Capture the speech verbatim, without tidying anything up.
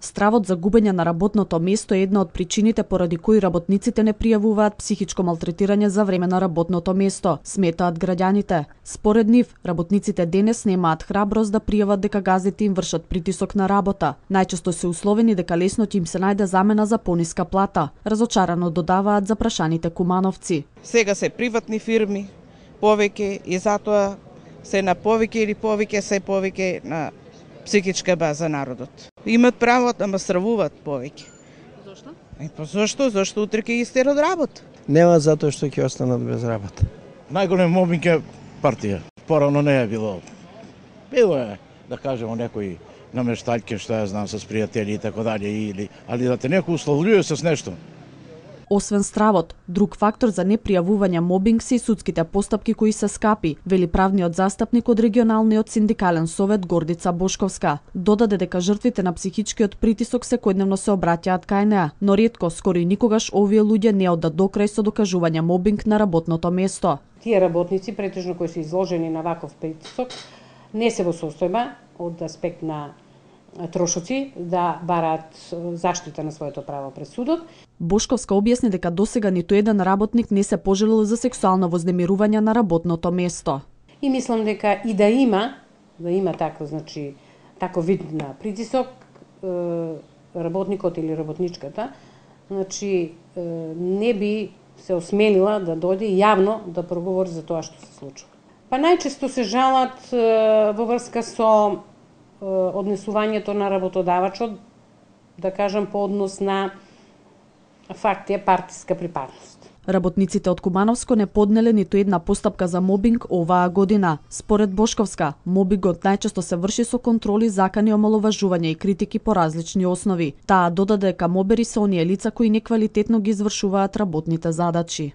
Стравот за губење на работното место е една од причините поради кои работниците не пријавуваат психичко малтретирање за време на работното место, сметаат граѓаните. Според нив, работниците денес немаат храброст да пријават дека газите им вршат притисок на работа. Најчесто се условени дека лесно ќе им се најде замена за пониска плата. Разочарано додаваат запрашаните кумановци. Сега се приватни фирми, повеќе и затоа се на повеќе или повеќе се повеќе на психичка база народот. Имат право да ме стравуваат повеќе. Зошто? Е, па зошто? Зошто утре ќе ги стерат работа? Нема затоа што ќе останат без работа. Најголем мобинг е партија. Порано не е било. Било е, да кажемо, некои намештаljke, што ја знам, с пријатели и така дале, или, али да те некој условлюе с нешто. Освен стравот, друг фактор за непријавување мобинг се и судските постапки кои се скапи, вели правниот застапник од регионалниот синдикален совет Гордица Бошковска. Додаде дека жртвите на психичкиот притисок секојдневно се обраќаат кај неа, но ретко, скоро и никогаш овие луѓе не одат до крај со докажување мобинг на работното место. Тие работници, претежно кои се изложени на ваков притисок, не се во состојба од аспект на трошоци да бараат заштита на своето право пред судот. Бошковска објасни дека досега ниту еден работник не се пожалил за сексуално вознемирување на работното место. И мислам дека и да има, да има тако, значи, тако вид на притисок, работникот или работничката, значи, не би се осмелила да дојде јавно да проговори за тоа што се случува. Па најчесто се жалат во врска со однесувањето на работодавачот, да кажам, по однос на фактија партиска припадност. Работниците од Кумановско не поднеле ниту една постапка за мобинг оваа година. Според Бошковска, мобингот најчесто се врши со контроли, закани, омаловажување и критики по различни основи. Таа додаде дека мобери се оние лица кои неквалитетно ги извршуваат работните задачи.